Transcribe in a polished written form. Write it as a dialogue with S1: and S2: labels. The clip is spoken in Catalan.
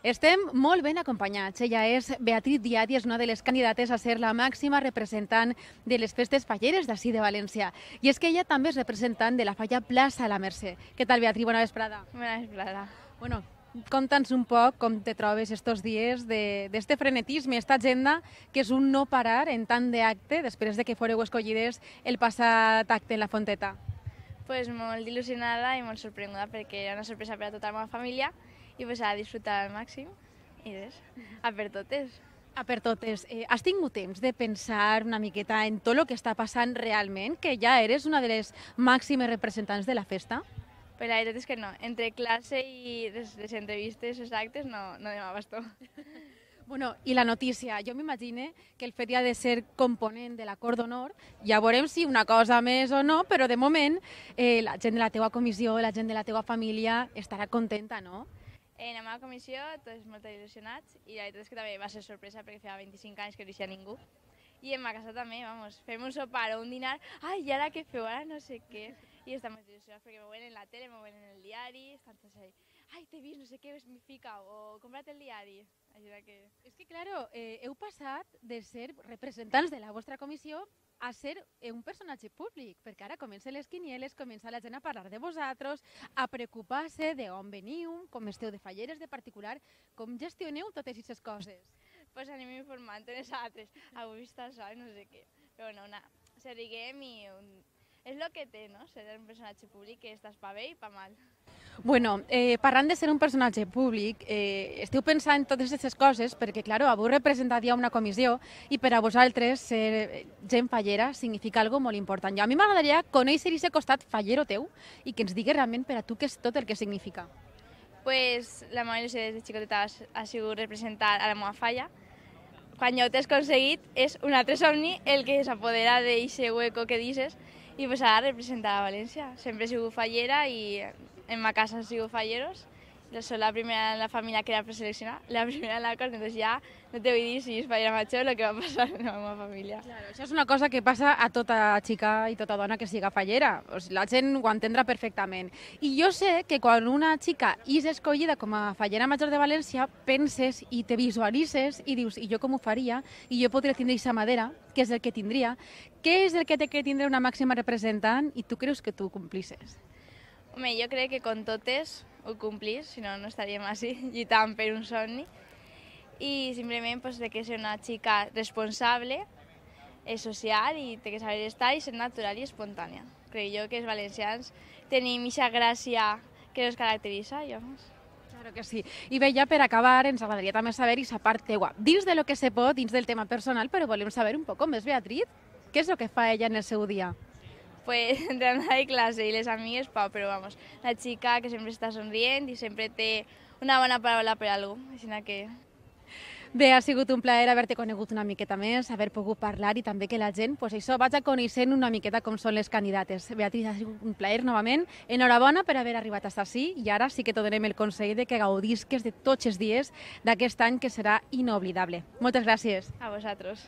S1: Estem molt ben acompanyats. Ella és Beatriz Díaz i és una de les candidates a ser la màxima representant de les festes falleres d'ací de València. I és que ella també és representant de la falla Plaça la Mercè. Què tal, Beatriz? Bona vesprada.
S2: Bona vesprada.
S1: Bueno, conta'ns un poc com te trobes estos dies d'este frenetisme, esta agenda, que és un no parar en tant d'acte després de que foreu escollides el passat acte en la Fonteta.
S2: Pues molt il·lusionada i molt sorprenguda perquè era una sorpresa per a tota la meva família i pues, a disfrutar al màxim i res, a per totes.
S1: A per totes, has tingut temps de pensar una miqueta en tot el que està passant realment, que ja eres una de les màximes representants de la festa?
S2: Però la veritat és que no, entre classe i les entrevistes, els actes, no anem a bastó.
S1: Bueno, i la notícia, jo m'imagine que el fet ja de ser component de l'acord d'honor, ja veurem si una cosa més o no, però de moment la gent de la teua comissió, la gent de la teua família estarà contenta, no?
S2: En la meva comissió, tots molt il·lusionats i la veritat és que també va ser sorpresa perquè feia 25 anys que no hi havia ningú. I en ma casa també, vamos, fem un sopar o un dinar, ai, i ara què feu, ara no sé què. I estan molt il·lusionats perquè me veuen en la tele, me veuen en el diari, estan tots ahí, ai, t'he vist, no sé què, m'hi fica, o compra't el diari. Així que...
S1: És que, claro, heu passat de ser representants de la vostra comissió a ser un personatge públic, perquè ara comencen les quinieles, comença la gent a parlar de vosaltres, a preocupar-se d'on veniu, com esteu de falleres de particular, com gestioneu totes aquestes coses.
S2: Pues anem informant en els altres, avui està això i no sé què. Però no, se riguem i és el que té, no?, ser un personatge públic, que estàs pa bé i pa mal.
S1: Bueno, parlant de ser un personatge públic, esteu pensant totes aquestes coses perquè, clar, avui representat ja una comissió i per a vosaltres ser gent fallera significa algo molt important. I a mi m'agradaria conèixer aquest costat fallero teu i que ens digues realment per a tu què és tot el que significa.
S2: Pues la meva il·lusió des de xicoteta ha sigut representar a la meva falla. Quan ja ho t'has aconseguit, és un altre somni el que s'apodera d'aquest hueco que dices i pues ara representar a València. Sempre he sigut fallera i en ma casa han sigut falleros. Soc la primera en la família que era preseleccionada, la primera en l'acord, doncs ja no te vull dir si és fallera major el que va passar en la meva família.
S1: Claro, això és una cosa que passa a tota xica i tota dona que siga fallera. O sigui, la gent ho entendrà perfectament. I jo sé que quan una xica és escollida com a fallera major de València, penses i te visualitzes i dius, i jo com ho faria? I jo podria tindre aquesta madera, que és el que tindria. Què és el que té que tindre una màxima representant i tu creus que tu complisses?
S2: Home, jo crec que con totes ho complís, si no, no estaríem així lluitant per un somni. I simplement pues, té que ser una xica responsable, social i té que saber estar i ser natural i espontània. Crec jo que els valencians tenim aquesta gràcia que ens caracteritza i vamos.
S1: Claro que sí. I bé, ja per acabar, ens agradaria també saber aquesta part teua. Dins de lo que se pot, dins del tema personal, però volem saber un poc més, Beatriz, què és el que fa ella en el seu dia?
S2: Pues entre anar de classe i les amigues, però vamos, la xica que sempre està somrient i sempre té una bona paraula per a algú, així que...
S1: Bé, ha sigut un plaer haver-te conegut una miqueta més, haver pogut parlar i també que la gent, pues això, vaig coneixent una miqueta com són les candidates. Beatriz, ha sigut un plaer novament. Enhorabona per haver arribat fins ací i ara sí que te donem el consell de que gaudisques de tots els dies d'aquest any que serà inoblidable. Moltes gràcies.
S2: A vosaltres.